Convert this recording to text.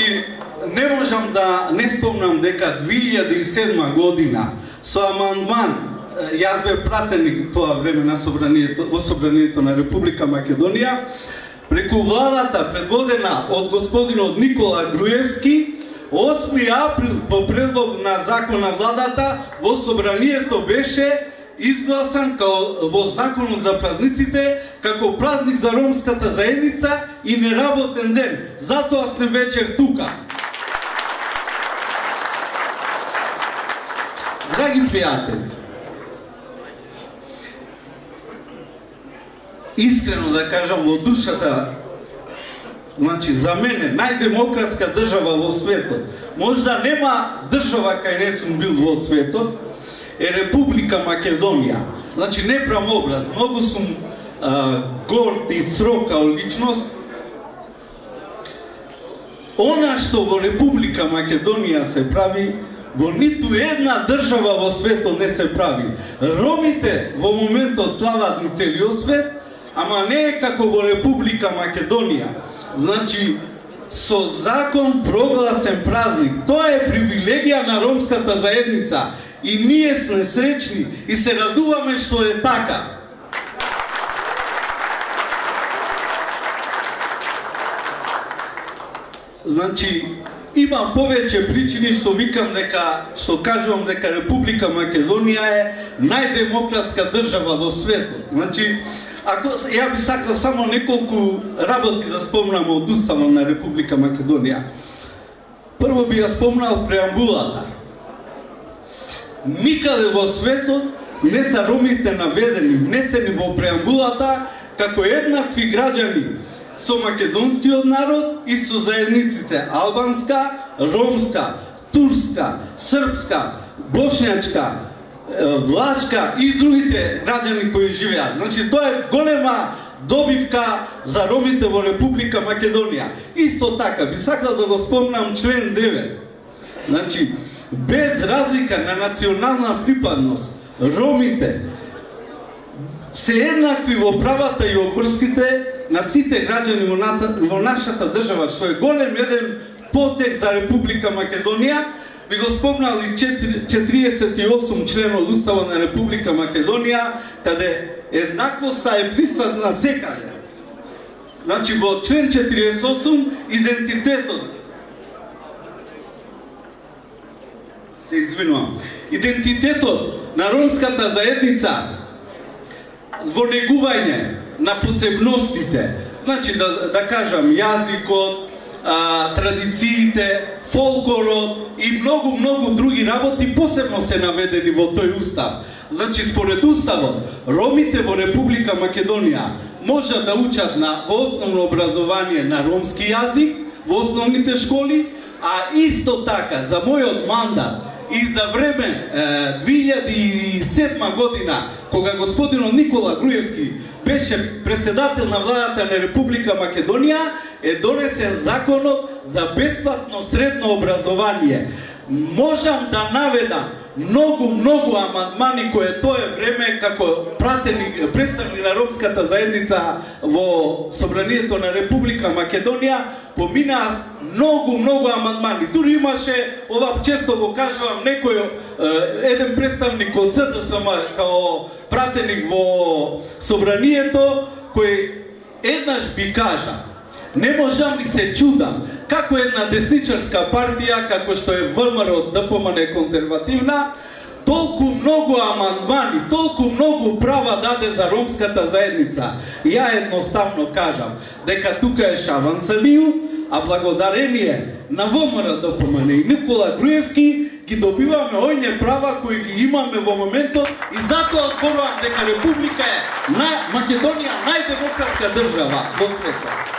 Значи, не можам да не спомнам дека 2007 година со амандман, јас бев пратеник тоа време на собранието, во собранието на Република Македонија, преку владата предводена од господинот Никола Груевски, 8 април по предлог на закон на владата во собранието беше изгласан во законот за празниците како празник за ромската заедница и неработен ден. Затоа сме вечер тука. Драги пријатели, искрено да кажам во душата, значи за мене најдемократска држава во светот, можда нема држава кај не сум бил во светот, е Република Македонија. Значи не прам образ, многу сум горд и срок као личност. Она што во Република Македонија се прави, во ниту една држава во светот не се прави. Ромите во моментот слават на целиот свет, ама не е како во Република Македонија. Значи, со закон прогласен празник. Тоа е привилегија на ромската заедница. И ние сме среќни и се радуваме што е така. Значи, имам повеќе причини што викам дека, што кажувам дека Република Македонија е најдемократска држава во светот. Значи, ако ја би сакал само неколку работи да спомнам од уставот на Република Македонија. Прво би ја спомнал преамбулата. Никаде во светот не се ромите наведени, внесени во преамбулата како еднакви граѓани со македонскиот народ и со заедниците албанска, ромска, турска, српска, бошњачка, влачка и другите граѓани кои живеат. Значи, тоа е голема добивка за ромите во Република Македонија. Исто така, би сакал да го спомнам член 9. Значи, без разлика на национална припадност, ромите се еднакви во правата и обврските на сите граѓани во нашата држава, што е голем еден потек за Република Македонија. Би го спомнал и 48 член од Уставот на Република Македонија, каде еднаквоста е присутна секаде. Значи, во член 48 идентитетот, се извинувам, идентитетот на ромската заедница во негување на посебностите, значи да кажам јазикот, традициите, фолклорот и многу други работи посебно се наведени во тој устав. Значи, според уставот, ромите во Република Македонија можат да учат во основно образование на ромски јазик во основните школи, а исто така за мојот мандат и за време 2007 година, кога господинот Никола Груевски беше председател на владата на Република Македонија, е донесен законот за бесплатно средно образование. Можам да наведам многу амандмани кои тоа време како представник на ромската заедница во собранието на Република Македонија поминаа многу амандмани. Дури имаше, ова често го кажувам, некој еден представник од СДСМ као пратеник во собранието кој еднаш би кажа: не можам и се чудам како една десничарска партија, како што е ВМРО ДПМН конзервативна, толку многу амандмани, толку многу права даде за ромската заедница. Ја едноставно кажам дека тука е Шабан Салију, а благодарение на ВМРО ДПМН и Никола Груевски ги добиваме оње права кои ги имаме во моментот и затоа зборувам дека Република е Македонија најдемократска држава во светот.